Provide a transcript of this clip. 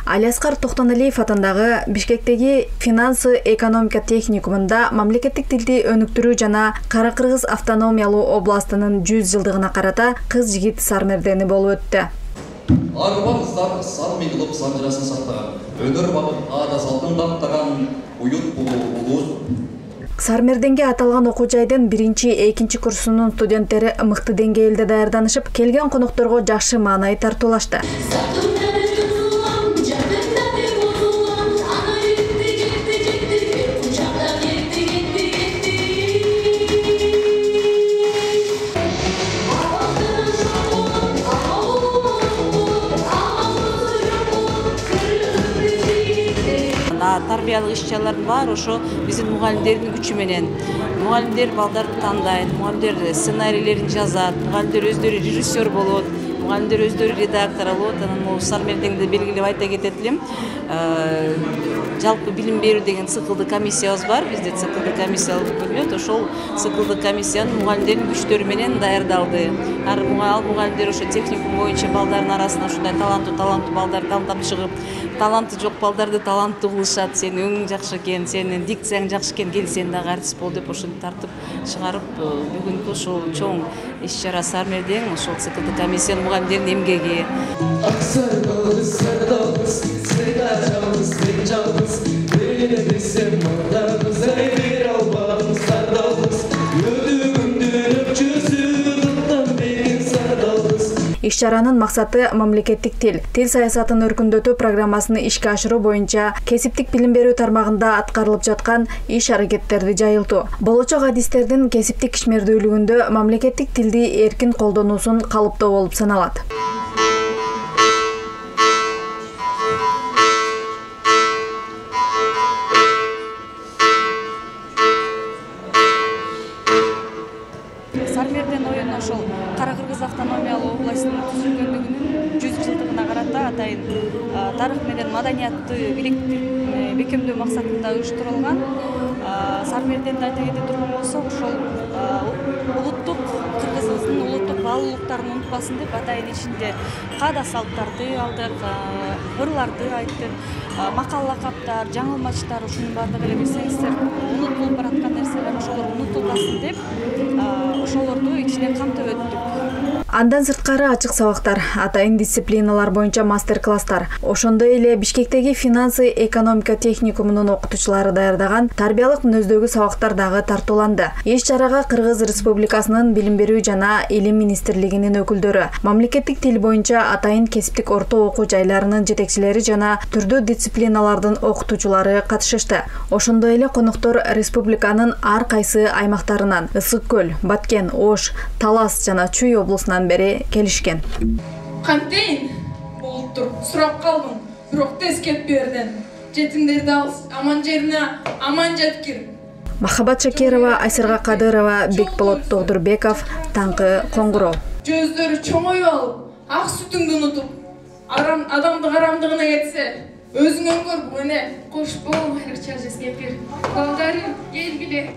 Алиаскар Токтоналиев атындагы Бишкектеги финансы экономика техникумунда мамлекеттик тилди өнүктүрүү жана Кара-Кыргыз автономиялуу областынын 100 жылдыгына карата кыз-жигит сармердени болуп өттү. Арбан кыздар сарми кылып санжырасын сактаган, өнөр багып аада салтын даттаган уют улуу. Сармерденге аталган окуу жайдын 1-2 курсунун студенттери мыкты деңгээлде даярданышып, келген конокторго жакшы маанай тартуулашты. Тарбиялык иш-чаралардын баары ошо биздин мугалимдердин күчү менен. Мугалимдер балдарды тандайт, мугалимдер сценарийлерин жазат, мугалимдер өздөрү режиссер болот, мугалимдер өздөрү редактор болот. Анан могу Сармердеңде белгилеп айта кетет элем. Жалпы билим берүү деген циклдык комиссиябыз бар. Бизде циклдык комиссия болуп бөлүнөт. Ошол циклдык комиссиянын мугалимдердин күчтөрү менен даярдалды. Ал мугалимдер ошо техникум боюнча балдардын арасына ушундай таланттуу балдарды тандап чыгып, таланты жок балдарды таланттуу кылышат. Сен өңүң жакшы экен, сенин дикцияң жакшы экен, кел сен дагы артист бол деп ошентип тартып чыгарып, бүгүнкү ушул чоң иш-чара Сармердең ошол циклдык комиссиянын мугалимдеринин эмгеги. Иш-чаранын максаты мамлекеттик тил саясатын өркүндөтүү программасын ишке ашыруу боюнча кесиптик билим берүү тармагында аткарылып жаткан иш-аракеттерди жайылтуу. Болочок адистердин кесиптик ишмердүүлүгүндө мамлекеттик тилди эркин колдонуусун калыптоо болуп саналат. Сармерден оюн ошол Кара-Кыргыз автономиялуу областынын түзүлгөндүгүнүн 100 жылдыгына карата атайын тарых менен маданиятты бекемдөө максатында уюштурулган. Сармерденди айта кете турган болсок, ошол улуттук кыргызыбыздын улуттук баалуулуктарын унутпасын деп атайын ичинде каада салттарды алдык, ырларды айттык, макал лакаптар, жаңылмачтар, ушунун баардыгы эле билсеңиздер унутулуп бараткан нерселер, ошолор унутулбасын деп ошолорду ичине камтып өттүк. Андан сырткары ачык сабактар, атайын дисциплиналар боюнча мастер-класстар, ошондой эле Бишкектеги финансы экономика техникумунун окутуучулары даярдаган тарбиялык мүнөздөгү сабактар дагы тартууланды. Иш-чарага Кыргыз Республикасынын Билим берүү жана Илим министрлигинин өкүлдөрү, мамлекеттик тил боюнча атайын кесиптик орто окуу жайларынын жетекчилери жана түрдүү дисциплиналардын окутуучулары катышышты. Ошондой эле коноктор республиканын ар кайсы аймактарынан Ысык көл, Баткен, Ош, Талас жана Чүй облусунан бери келишкен. Кантейин болуптур, сурап калдым, бирок тез кетип бердин. Жетимдерди ал аман жерине аман жеткир. Махабат Шакирова, Айсырга Кадырова, Бекболот Тогдурбеков, Таңкы Коңгуроо. Көздөрү чоңоюп алып, ак сүтүңдү унутуп, адамдын карамдыгына кетсе, өзүң өңгөр, мына кош бол, айрыкча жескепир. Балдарым, келгиле.